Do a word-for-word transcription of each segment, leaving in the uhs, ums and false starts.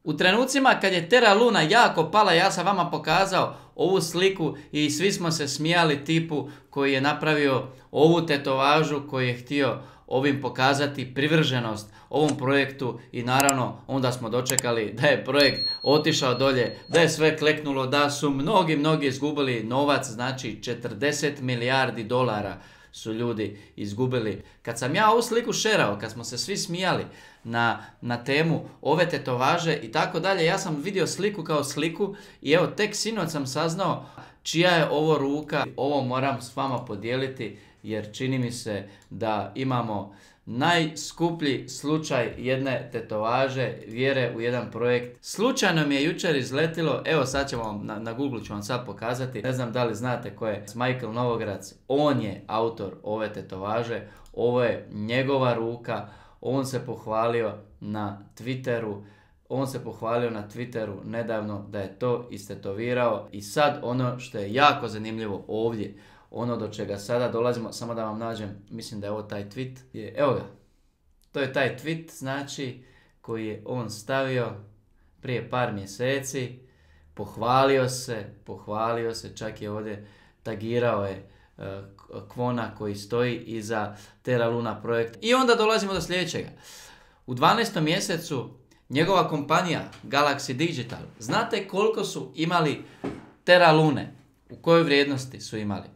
U trenucima kad je Terra Luna jako pala, ja sam vama pokazao ovu sliku i svi smo se smijali tipu koji je napravio ovu tetovažu, koji je htio ovim pokazati privrženost ovom projektu i naravno onda smo dočekali da je projekt otišao dolje, da je sve kleknulo, da su mnogi, mnogi izgubili novac, znači četrdeset milijardi dolara su ljudi izgubili. Kad sam ja ovu sliku šerao, kad smo se svi smijali na, na temu ove tetovaže i tako dalje, ja sam vidio sliku kao sliku i evo tek sinoć sam saznao čija je ovo ruka. Ovo moram s vama podijeliti jer čini mi se da imamo najskuplji slučaj jedne tetovaže, vjere u jedan projekt. Slučajno mi je jučer izletilo, evo sad ćemo vam, na, na Google ću vam sad pokazati, ne znam da li znate ko je Michael Novograc, on je autor ove tetovaže, ovo je njegova ruka, on se pohvalio na Twitteru, on se pohvalio na Twitteru nedavno da je to istetovirao i sad ono što je jako zanimljivo ovdje, ono do čega sada dolazimo, samo da vam nađem, mislim da je ovo taj tweet, je, evo ga, to je taj tweet, znači, koji je on stavio prije par mjeseci, pohvalio se, pohvalio se, čak je ovdje tagirao je uh, Kwona koji stoji iza Terra Luna projekt. I onda dolazimo do sljedećega. U dvanaestom mjesecu njegova kompanija Galaxy Digital, znate koliko su imali Terra Lune? U kojoj vrijednosti su imali?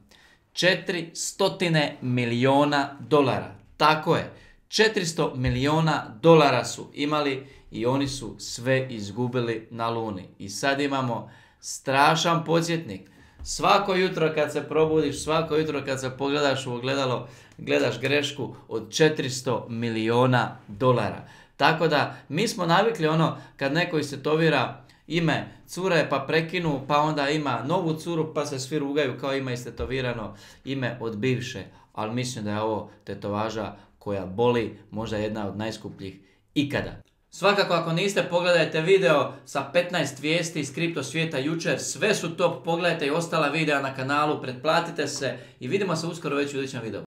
četiristo milijuna dolara. Tako je. četiristo milijuna dolara su imali i oni su sve izgubili na Luni. I sad imamo strašan podsjetnik. Svako jutro kad se probudiš, svako jutro kad se pogledaš u ogledalo, gledaš grešku od četiristo milijuna dolara. Tako da mi smo navikli ono kad neko istetovira ime cure pa prekinu, pa onda ima novu curu pa se svi rugaju kao ima istetovirano ime od bivše. Ali mislim da je ovo tetovaža koja boli, možda jedna od najskupljih ikada. Svakako ako niste, pogledajte video sa petnaest vijesti iz kripto svijeta jučer. Sve su top, pogledajte i ostala videa na kanalu, pretplatite se i vidimo se uskoro već u idućem videu.